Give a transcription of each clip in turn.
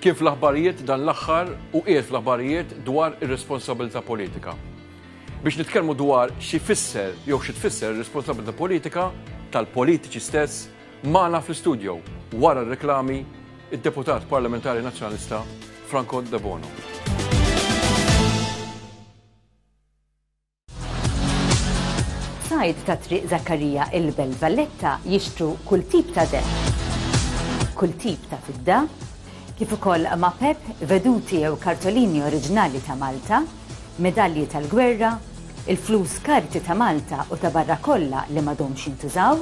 Kien fl-aħbarijiet dan l-aħħar u qiegħed fl-aħbarijiet dwar ir-responsabilità politika. Biex nitkellmu dwar xi fisser jew xi tfisser ir-responsabilità politika tal-politiċi stess magħna fl-istudio wara r-reklami id-Deputat Parlamentari Nazzjonalista Franco Debono. Sajd ta' Triq Zakkarija il-Belt Valletta jixtru kull tip ta' deheb, kull tip ta' fidda, kif ukoll mapep, veduti jew kartolini oriġinali ta' Malta, medalji tal-gwerra, il-flus karti ta' Malta u ta' barra kollha li m'għadhomx jintużaw,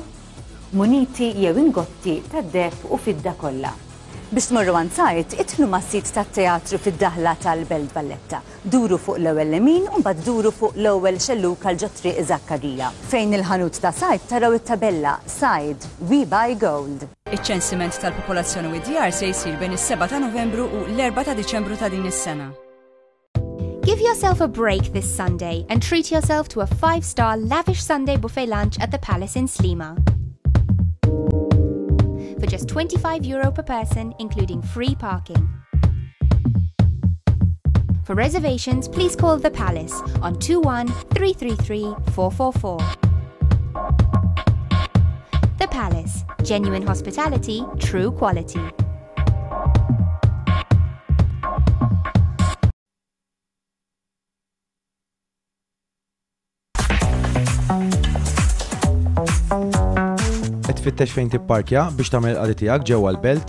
muniti jew ingotti tad-deheb u fidda kollha. Biex tmorru għand Said, idħlu mas-sit tat-teatru fid-daħla tal-Belt Valletta. Duru fuq l-ewwel lemin u mbagħad duru fuq l-ewwel xellug għal ġo Triq Żakkarija. Fejn il-ħanut ta' Said taraw it-tabella Said, We Buy Gold. Iċ-ċensiment tal-popolazzjoni u d-djar se jsir bejn is-7 ta' Novembru u l-4 ta' Diċembru ta' din is-sena. Give yourself a break this Sunday and treat yourself to a five-star lavish Sunday buffet lunch at the Palace in Sliema. For just 25 euro per person, including free parking. For reservations, please call the Palace on 21 333 444. The Palace, genuine hospitality, true quality. Qed tfittex fejn tipparkja biex tagħmel il-qadi tiegħek ġewwa l-belt?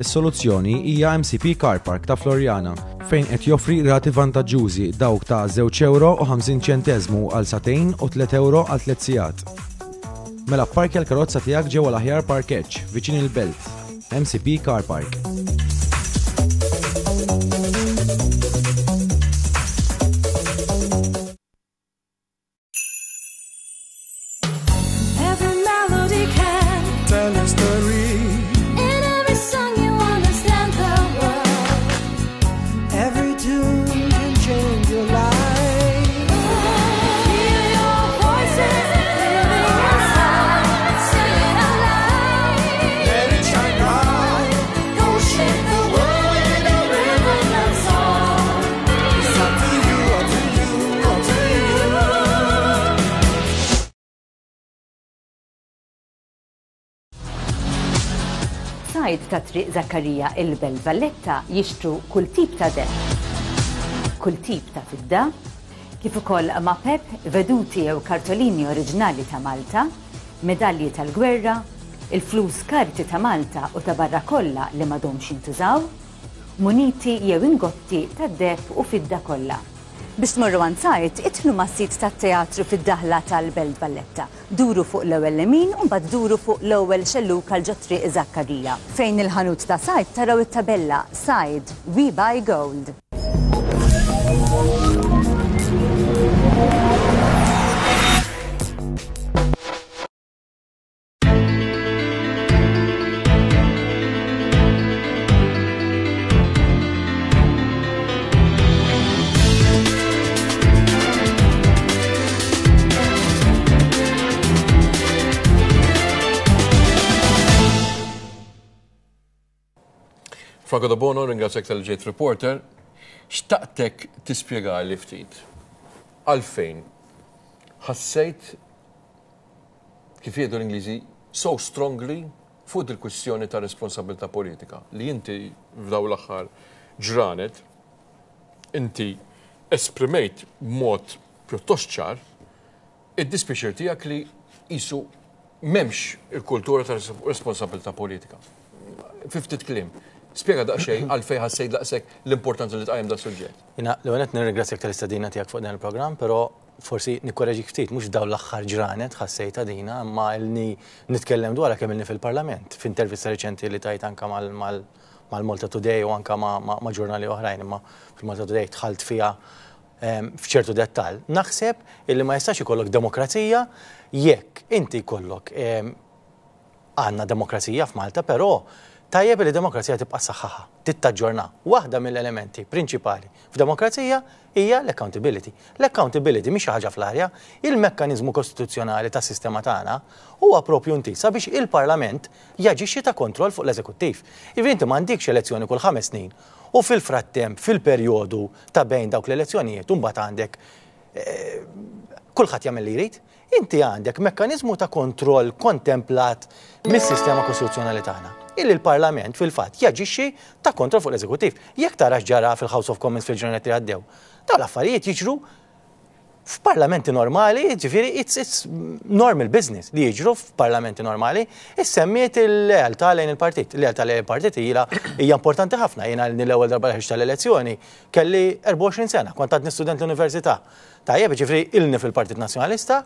Is-soluzzjoni hija MCP Car Park ta' Floriana fejn qed joffri rati vantaġġużi dawk ta' żewġ ewro u 50 ċenteżmu għal sagħtejn u tliet ewro għal tliet sigħat. Mela pparkja l-karozza tiegħek ġewwa l-aħjar parkeġġ viċin il-belt. MCP Car Park. Every melody can tell a story. In every song you understand the world. Every tune can change your life. Hear your voices living inside. Sing it aloud. Let it shine bright. Go shake the world with a rhythm and song. It's up to you, up to you, up to you. Said ta' Triq Zakkarija il-Belt Valletta jixtru kull tip ta' deheb, kull tip ta' fidda, kif ukoll mapep, veduti jew kartolini oriġinali ta' Malta, medalji tal-gwerra, il-flus karti ta' Malta u ta' barra kollha li m'għadhomx jintużaw, muniti jew ingotti tad-deheb u fidda kollha. Biex tmorru għand Said, idħlu mas-sit tat-teatru fid-daħla tal-Belt Valletta. Duru fuq l-ewwel lemin u mbagħad duru fuq l-ewwel xellug għal ġo Triq Żakkarija. Fejn il-ħanut ta' Said taraw it-tabella Said, We Buy Gold. Franco Debono, ringrazzjak tal-ġejt reporter. Xtaqtek tispjegali ftit għalfejn ħassejt kif jgħidu l-Ingliżi, so strongly fuq dil-kwistjoni ta' responsabilità politika li inti f'dawn l-aħħar ġranet inti esprimejt b'mod pjuttost ċar id-dispjaċir tiegħek li qisu m'hemmx il-kultura ta' responsabilità politika. Fi ftit kliem, spjega daqsxejn għalfejn ħassejt daqshekk l-importanza li tqajjem das-suġġett. Jiena l-ewwel nett nirringrazzjak tal-istedina tiegħek fuq dan il-programm, però forsi nikkoreġik ftit, mhux f'dawn l-aħħar ġranet ħassejtha dina, imma ilni nitkellem dwarha kemm ilni fil-Parlament, f'intervista riċenti li tajt anke mal-Malta Today u anke ma' ġurnali oħrajn, imma fil-Malta Today dħalt fiha f'ċertu dettall. Naħseb illi ma jistax ikollok demokrazija jekk inti jkollok għandna demokrazija f'Malta, però Tajjeb li demokrazija tibqa' ssaħħaħha, tittaġġorna. Waħda mill-elementi prinċipali f'demokrazija hija l-accountability. L-accountability mhix xi ħaġa fl-arja, il-mekkaniżmu kostituzzjonali tas-sistema tagħna huwa propju intiż sabiex il-Parlament jaġixxi ta' kontroll fuq l-eżekuttiv. Jiġifieri inti m'għandikx elezzjoni kull ħames snin u fil-frattemp fil-perjodu ta' bejn dawk l-elezzjonijiet u mbagħad għandek kulħadd jagħmel li jrid. Inti għandek mekkaniżmu ta' kontroll kontemplat mis-sistema kostituzzjonali tagħna. Illi l-Parlament fil-fatt jaġixxi ta' kontroll fuq l-eżekuttiv. Jekk tara x'ġara fil-House of Commons fil-ġranet li għaddew, dawn l-affarijiet jiġru f'parlamenti normali, ġifieri it's, it's normal business li jiġru f'parlamenti normali, issemmiet il-lealtà lejn il-partit. Il-lealtà lejn il-partit hija hija importanti ħafna. Jiena l-ewwel darba li ħriġt tal-elezzjoni kelli 24 sena, kont għadni student l-università. Tajjeb, ġifieri ilni fil-Partit Nazzjonalista,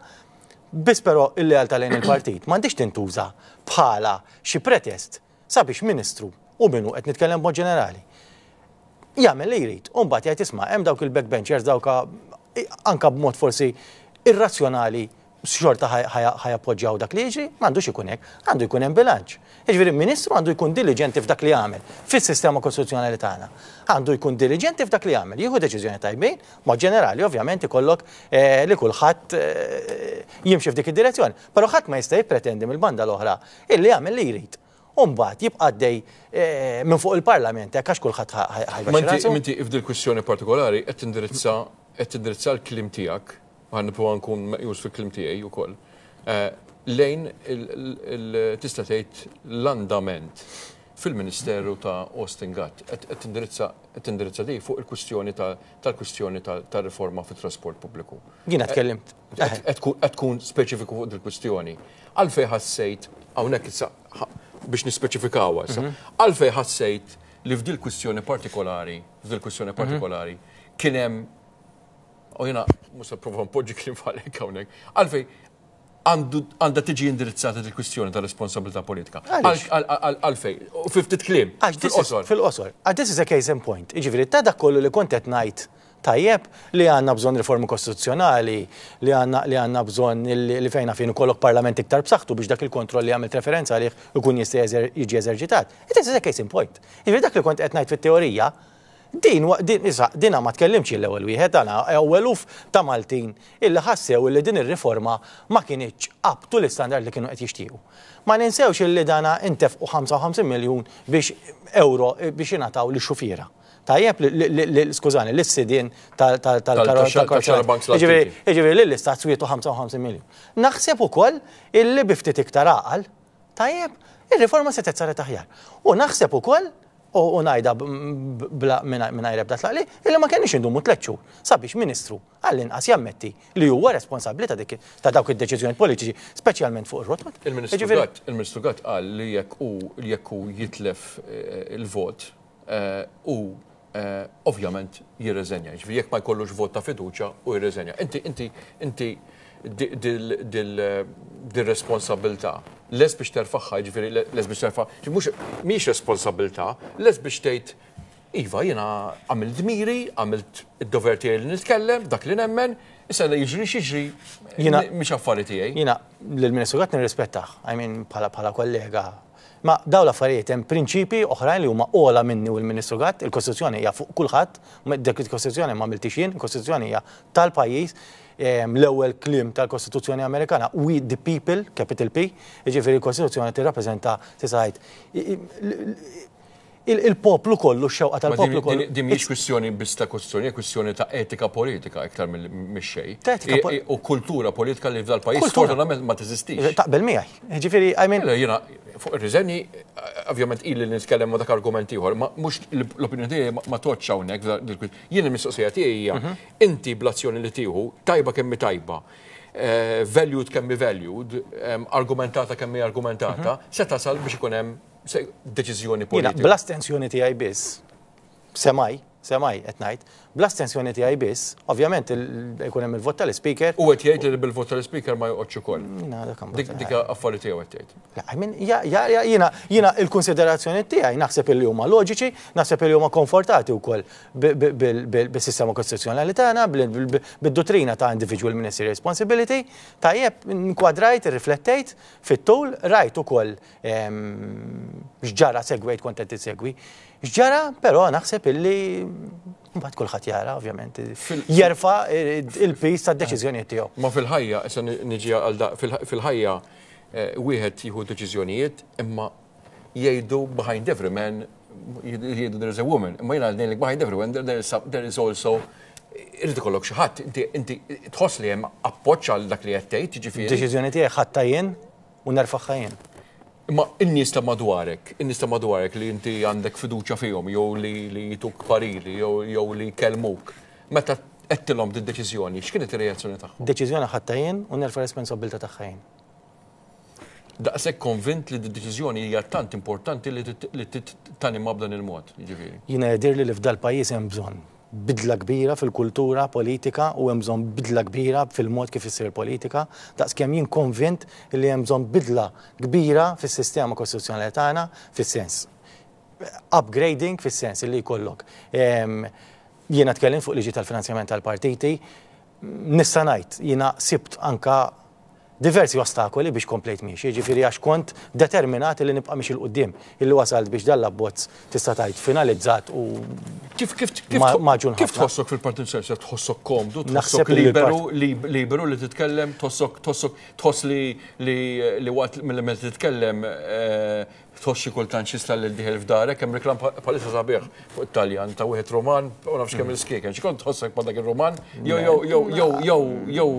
biss però il-lealtà lejn il-partit m'għandix tintuża bħala xi pretest sabiex ministru u minnu qed nitkellem b'mod ġenerali jagħmel li jrid u mbagħad jgħid isma' hemm dawk il-backbenchers dawk anka b'mod forsi irrazzjonali xorta ħa jappoġġjaw dak li jiġri, m'għandux ikun hekk, għandu jkun hemm bilanċ. Jiġifieri ministru għandu jkun diliġenti f'dak li jagħmel fis-sistema kostituzzjonali tagħna. Għandu jkun diliġenti f'dak li jagħmel, jieħu deċiżjoni tajbin, mod ġenerali ovvjament ikollok eh, li kulħadd eh, jimxi f'dik id-direzzjoni. Però ħadd ma jista' jippretendi mill-banda l-oħra illi jagħmel li jrid. U mbagħad jibqa' għaddej eh, minn fuq il-Parlament hekk għax kulħadd ħa jbaxxi rasu. Inti f'dil kwistjoni partikolari qed tindirizza qed tindirizza l-kliem tiegħek, ħa nipprova nkun meqjus fil-kliem tiegħi wkoll, eh, lejn tista' tgħid l-andament fil-Ministeru ta' Austin Gatt. Qed tindirizza qed tindirizza di fuq il-kwistjoni tal-kwistjoni tar-riforma fit-trasport pubbliku. Jiena tkellimt. Qed tkun speċifiku fuq dil-kwistjoni. Għalfejn ħassejt hawnhekk issa biex nispeċifikawha issa. Għalfejn ħassejt li f'dil kwistjoni partikolari, f'dil kwistjoni partikolari, kien hemm u jiena mhux se nipprova npoġġi kliem f'għalek hawnhekk, għalfejn għandha tiġi indirizzata il kwistjoni ta' responsabilità politika. Għalfejn, u fi ftit kliem, fil-qosor. Fil-qosor. This is a case in point. Jiġifieri ta' dak kollu li kont qed ngħid tajjeb li għandna bżonn riformi kostituzzjonali, li għandna li għandna bżonn li fejn fejn ikollok parlament iktar b'saħħtu biex dak il-kontroll li għamilt referenza għalih ikun jista' jiġi eżerċitat. It is a case in point. Jiġifieri dak li kont qed ngħid fit-teorija, din din issa dina ma tkellimx l-ewwel wieħed għana eluf ta' Maltin illi ħassew illi din ir-riforma ma kinitx up to l-istandard li kienu qed jixtiequ. Ma ninsewx illi dana intefqu 55 miljun biex euro biex jingħataw lix-xufiera. Tajjeb, skużani, l-sidien tal-karozza. Jiġifieri lill-istat swietu 55 miljun. Naħseb ukoll illi bi ftit iktar għaqal, tajjeb, ir-riforma setgħet saret aħjar. U naħseb ukoll u ngħidha bla mingħajr ebda tlaqli, illi ma kenniex indumu tliet xhur sabiex ministru għall-inqas jammetti li huwa responsabbli ta' dik ta' dawk id-deċiżjonijiet politiċi, speċjalment fuq ir-rotot. Il-Ministru Gatt, il-Ministru Gatt qal li jekk hu jekk hu jitlef il-vot hu ovvjament jirreżenja. Jiġifieri jekk ma jkollux vot ta' fiduċja hu jirreżenja. Inti inti inti dir-responsabilità lest biex terfagħha, jiġifieri lest biex terfa' mhux mhijiex responsabilità, lest biex tgħid iva jiena għamilt dmiri, għamilt id-dover tiegħi li nitkellem, dak li nemmen, issa li jiġri x'jiġri mhix affari tiegħi. Jiena lill-Ministru Gatt nirrispettah, I mean bħala bħala kollega. Ma dawn l-affarijiet hemm prinċipji oħrajn li huma ogħla minni u l-Ministru Gatt, il-Kostituzzjoni hija fuq kulħadd, dik il-Kostituzzjoni ma għamiltix jien, il-Kostituzzjoni hija tal-pajjiż, l-ewwel kliem tal-Kostituzzjoni Amerikana, we the people, capital P, jiġifieri l-Kostituzzjoni tirrappreżenta tista' tgħid il-poplu kollu, x-xewqa tal-poplu kollu. Din mhijiex kwistjoni biss ta' Kostituzzjoni, hija kwistjoni ta' etika politika iktar mix-xejn. U kultura politika li f'dal-pajjiż sfortunatament ma teżistix. Taqbel miegħi. Jiġifieri, I mean. Jiena fuq ir-riżenji, ovvjament ili nitkellem ma' dak argument ieħor, ma mhux l-opinjoni tiegħi ma tgħoddx hawnhekk. Jien il-mistoqsija tiegħi hija inti bl-azzjoni li tieħu, tajba kemm hi tajba, valued kemm hi valued, argumentata kemm hi argumentata, se tasal biex ikun hemm deċiżjoni politika. Jiena bl-astensjoni tiegħi biss, semaj, Semmai, qed ngħid, bl-astensjoni tiegħi biss, ovvjament ikun hemm il-vot tal-Ispeaker. U qed jgħid li bil-vot tal-Ispeaker ma joqgħodx ukoll. Dik affari tiegħu qed jgħid. I mean, jiena jiena il-konsiderazzjoni tiegħi naħseb illi huma loġiċi, naħseb illi huma konfortati wkoll bis-sistema kostituzzjonali tagħna, bid-dottrina ta' individual ministerial responsibility. Tajjeb, nkwadrajt, irriflettejt fit-tul, rajt ukoll x'ġara segwejt kont qed tisegwi. X'ġara, però naħseb illi mbagħad kulħadd jara, ovvjament, jerfa' il-piż tad-deċiżjonijiet tiegħu. Ma fil-ħajja, issa niġi għal da, fil-ħajja wieħed jieħu deċiżjonijiet imma jgħidu behind every man jgħidu there is a woman, imma jiena ngħidlek behind every man there is, there is also irid ikollok xi ħadd, inti tħoss li hemm appoġġ għal dak li qed tgħid, jiġifieri. Deċiżjoni tiegħi ħadtha jien u nerfagħha jien. Imma in-nies ta' madwarek, in-nies ta' madwarek li inti għandek fiduċja fihom jew li li jtuk pariri jew jew li jkellmuk, meta għedtilhom did-deċiżjoni, x'kienet ir-reazzjoni tagħhom? Deċiżjoni ħadtha jien u nerfa' responsabbiltà tagħha jien. Daqshekk konvint li d-deċiżjoni hija tant importanti li li tanimha b'dan il-mod, jiġifieri. Jiena jidhirli li f'dal-pajjiż hemm bżonn bidla kbira fil-kultura politika u hemm bżonn bidla kbira fil-mod kif issir politika, daqskemm jien konvint li hemm bżonn bidla kbira fis-sistema kostituzzjonali tagħna fis-sens upgrading fis-sens li jkollok. Jiena tkellimt fuq liġi tal-finanzjament tal-partiti, nista' ngħid jiena sibt anka diversi ostakoli biex komplejt miexi, jiġifieri għax kont determinat li nibqa' miexi 'l quddiem, illi wasalt biex dan l-abbozz tista' tgħid finalizzat u Kif kif kif magħġun ħafna. Kif tħossok fil-Partit Soċjalista? Tħossok komdu, tħossok liberu, liberu li titkellem, tħossok tħossok tħoss li li li waqt milli meta titkellem Tħoss xi kultant xi stall dieħel f'darek, hemm reklam bħalissa sabiħ fuq it-Taljan ta' wieħed Ruman u nafx kemm il-skieken. Xi kont tħossok bħal dak ir-Ruman jew jew jew jew jew jew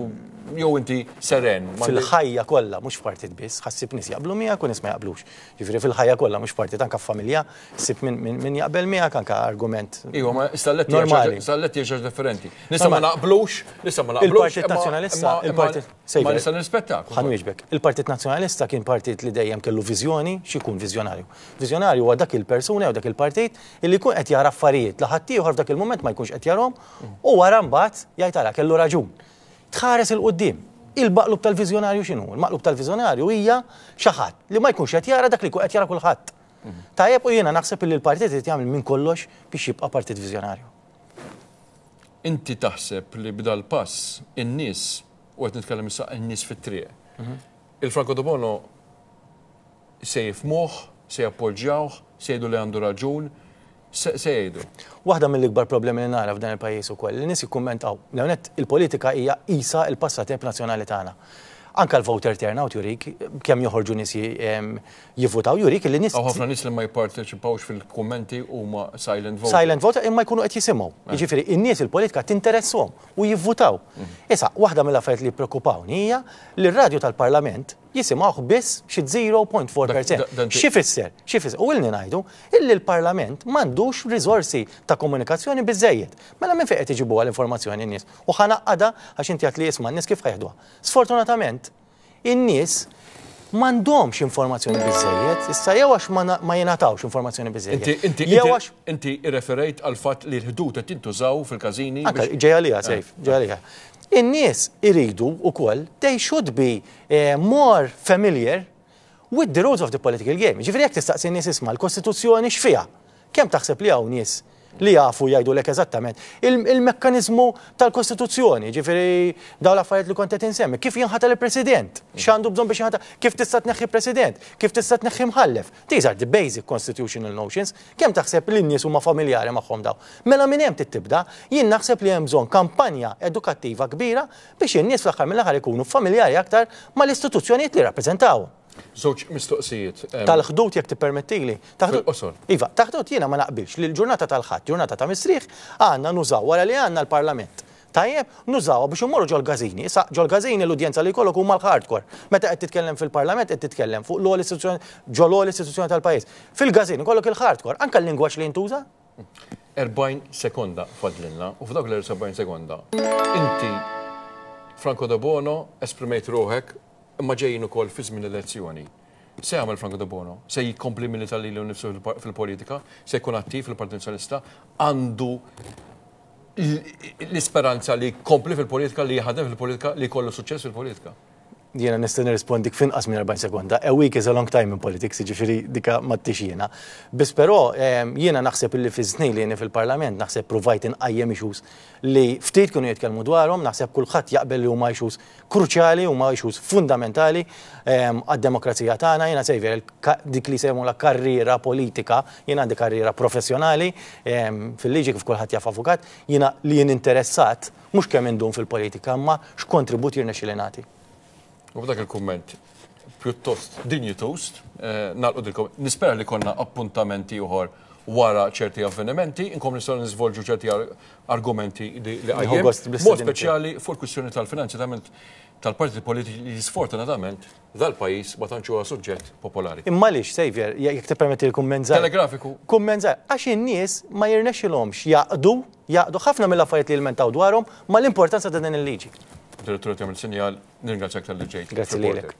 jew inti seren. Fil-ħajja kollha, mhux f'partit biss, ħa ssib nies jaqblu miegħek u nies ma jaqblux. Jiġifieri fil-ħajja kollha mhux f'partit anke f'familja, ssib min jaqbel miegħek anke argument. Iva, ma stalletti normali. Stalletti hija xi ħaġa differenti. Nista' ma naqblux, nista' ma naqblux. Il-Partit Nazzjonalista, il-Partit Ma nista' nirrispettak. Ħa nwieġbek. Il-Partit Nazzjonalista kien partit li dejjem kellu viżjoni, x'ikun viżjonarju? Viżjonarju huwa dak il-persuna jew dak il-partit illi jkun qed jara affarijiet li ħaddieħor f'dak il-mument ma jkunx qed jarahom u wara mbagħad jgħid ara kellu raġun. Tħares 'il quddiem. Il-maqlub tal-viżjonarju x'inhu? Il-maqlub tal-viżjonarju hija xi ħadd li ma jkunx qed jara dak li jkun qed jara kulħadd. Tajjeb u jiena naħseb illi l-partit irid jagħmel minn kollox biex jibqa' partit viżjonarju. Inti taħseb li b'dal-pass in-nies u qed nitkellem issa n-nies fit-triq. Il-Franco Debono se jifhmuh, se jappoġġjawh, se jgħidu li għandu raġun, se jgħidu. Waħda mill-ikbar problemi li nara f'dan il-pajjiż ukoll, li nies jikkummentaw, l-ewwel nett il-politika hija qisha l-passatemp nazzjonali tagħna. Anke l-voter turnout jurik kemm joħorġu nies jivvutaw, jurik li nies. Hawn ħafna nies li ma jipparteċipawx fil-kummenti huma silent voters. Silent voter imma jkunu qed jisimgħu. Jiġifieri in-nies il-politika tinteresshom. u jivvutaw. Issa, waħda mill-affarijiet li jippreokupawni hija li r-radju tal-Parlament jisimgħuh biss xi 0.4%. X'ifisser? X'ifisser? U ilni ngħidu illi l-Parlament m'għandux riżorsi ta' komunikazzjoni biżżejjed. Mela minn fejn qed iġibuha l-informazzjoni n-nies? U ħa ngħaqqadha għax inti għedt li isma' n-nies kif ħa jeħduha. Sfortunatament, In-nies m'għandhomx informazzjoni biżżejjed, issa jew għax ma jingħatawx informazzjoni biżżejjed. Inti, inti, jew għax inti irreferejt għal fatt li l-ħdud qed jintużaw fil-każini. Anke ġej għaliha, Sejf, ġej għaliha. In-nies iridu wkoll they should be eh, more familiar with the rules of the political game. Ġifieri jekk tistaqsi n-nies isma' l-Kostituzzjoni x'fiha? Kemm taħseb li hawn nies li jafu jgħidulek eżattament il-mekkaniżmu tal-Kostituzzjoni, ġifieri dawn l-affarijiet li kont qed insemmi, kif jinħatar il-President, x'għandu bżonn biex jinħatar, kif tista' tneħħi President, kif tista' tneħħi mħallef. These are the basic constitutional notions. Kemm taħseb li n-nies huma familjari magħhom dawn? Mela minn hemm trid tibda. Jien naħseb li hemm bżonn kampanja edukattiva kbira biex in-nies fl-aħħar mill-aħħar ikunu familjari aktar mal-istituzzjonijiet li jirrappreżentawhom. Żewġ mistoqsijiet. Tal-ħdud jekk tippermettili. Fil-qosor. Iva, ta' ħdud jiena ma naqbilx li l-ġurnata tal-Ħadd, ġurnata ta' mistrieħ, għandna nużaw wara li għandna l-Parlament. Tajjeb, nużawha biex immorru ġol-każini. Issa, ġol-każini l-udjenza li jkollok huma l-hardcore. Meta qed titkellem fil-Parlament qed titkellem fuq l-ogħla istituzzjoni, ġol-ogħla istituzzjoni tal-pajjiż. Fil-każin ikollok il-hardcore, anke l-lingwaġġ li jintuża. 40 sekonda fadlilna u f'dawk l-40 sekonda inti Franco Debono esprimejt ruħek imma ġejjin ukoll fi żmien elezzjoni. Se jagħmel Franco Debono? Se jkompli jmilita lilu nnifsu fil-politika? Se jkun attiv fil-Partit Nazzjonalista? Għandu l-isperanza li jkompli fil-politika, li jaħdem fil-politika, li jkollu suċċess fil-politika? Jiena nista' nirrispondik f'inqas minn 40 sekonda. A week is a long time in politics, jiġifieri dika m'għadtix jiena. Biss però jiena naħseb illi fiż-żnien li jieni fil-Parlament naħseb pruvajt inqajjem issues li ftit kienu jitkellmu dwarhom, naħseb kulħadd jaqbel li huma issues kruċjali, huma issues fundamentali għad-demokrazija tagħna. Jiena Xavier, dik li jsejmulha karriera politika, jiena għandi karriera professjonali fil-liġi kif kulħadd jaf avukat, jiena li jien interessat mhux kemm indum fil-politika imma x'kontribut jirnexxieli nagħti. U b'dak il-kumment pjuttost dinjituż, nagħlqu dilkom. Nispera li konna appuntamenti oħor wara ċerti avvenimenti, inkom nistgħu niżvolġu ċerti argumenti li qajjem. Mod speċjali fuq il-kwistjoni tal-finanzjament tal-partiti politiċi li sfortunatament dal-pajjiż ma tantx huwa suġġett popolari. Imma għaliex, Xavier, jekk tippermetti l-kumment żgħir. Telegrafiku. Kumment żgħir, għax in-nies ma jirnexxilhomx jgħaqqdu jgħaqqdu ħafna mill-affarijiet li jilmentaw dwarhom mal-importanza ta' din il-liġi. Direttur qed jagħmel sinjal, nirringrazzjak talli ġejt. Grazzi lilek.